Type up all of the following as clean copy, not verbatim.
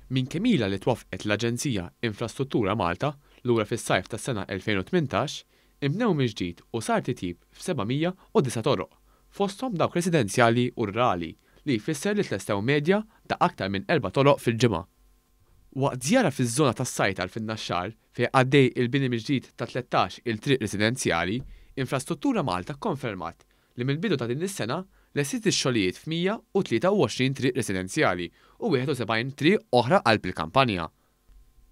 Minn kemm ilha li twaffqet l-Aġenzija Infrastruttura Malta, lura fis-sajf tas-sena 2018, inbnew mill-ġdid u sar titjib f'709 toroq, fosthom dawk residenzjali u rurali, li jfisser li tlestew medja ta' aktar minn erba' toroq fil-ġimgħa. Waqt żjara fiż-żona tas-Sajtar fin-Naxxar, fejn għaddej il-bini mill-ġdid ta' 13 il triq residenzjali, Infrastruttura Malta kkonfermat li mill-bidu ta' din is-sena lestiet ix-xogħlijiet f'123 triq residenzjali u 71 triq oħra qalb il-kampanja.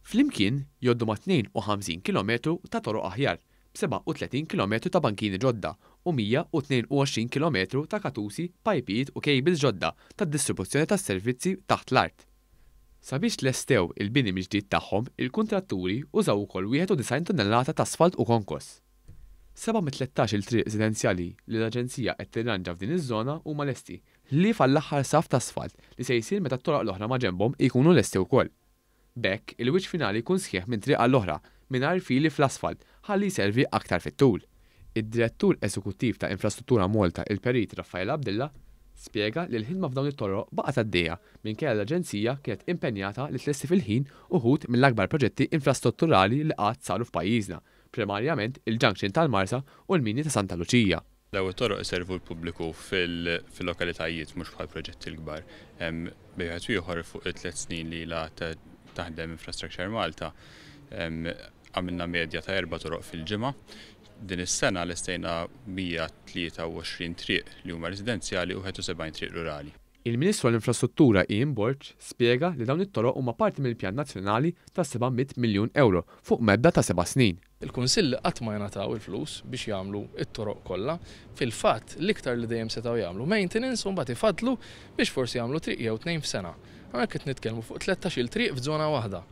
Flimkien jgħoddu ma' 52 kilometru ta' toroq aħjar, b'37 kilometru ta' bankini ġodda u 122 kilometru ta' katusi, pajpijiet u cables ġodda tad-distribuzzjoni tas-servizzi taħt l-art. Sabiex tlestew il-bini mill-ġdid tagħhom, il-kuntratturi użaw ukoll 91 tunnellata t'asfalt u konkos. Seba' mit-tlettax-il triq residenzjali li l-Aġenzija qed tirranġa f'din iż-żona huma lesti, ħlief għall-aħħar saff t'asfalt li se jsir meta t-toroq l-oħra maġenbhom jkunu lesti wkoll. B'hekk, il-wiċċ finali jkun sħiħ minn triq għall-oħra, mingħajr fili fl-asfalt, ħalli jservi aktar fit-tul. Id-Direttur Eżekuttiv ta' Infrastruttura Malta, il-Perit Raffaele Abdilla, spjega li l-ħidma f'dawn it-toroq baqgħet għaddejja minkejja li l-Aġenzija kienet impenjata li tlesti fil-ħin uħud mill-akbar proġetti infrastrutturali li qatt saru f'pajjiżna, primarjament il-junction tal-Marsa u l-mini ta' Santa Luċija. Dawn it-toroq iservu l-pubbliku fil-lokalitajiet mhux bħal proġetti l-kbar. Bejn wieħed u ieħor fuq it-tliet snin li ilha taħdem Infrastructure Malta għamilna medja ta' erba' toroq fil-ġimgħa. Din is-sena lestejna 123 triq li huma residenzjali u 71 triq rurali. Il-Ministru għall-Infrastruttura Ian Borg spjega li dawn it-toroq huma parti mill-pjan nazzjonali ta' 700 miljun ewro fuq medda ta' seba' snin. Il-Kunsilli qatt ma jingħataw il-flus biex jagħmlu t-toroq kollha. Fil-fatt, l-iktar li dejjem setgħu jagħmlu maintenance u mbagħad ifaddlu biex forsi jagħmlu triq jew tnejn f'sena. Hawnhekk qed nitkellmu fuq tlettax-il triq f'żona waħda.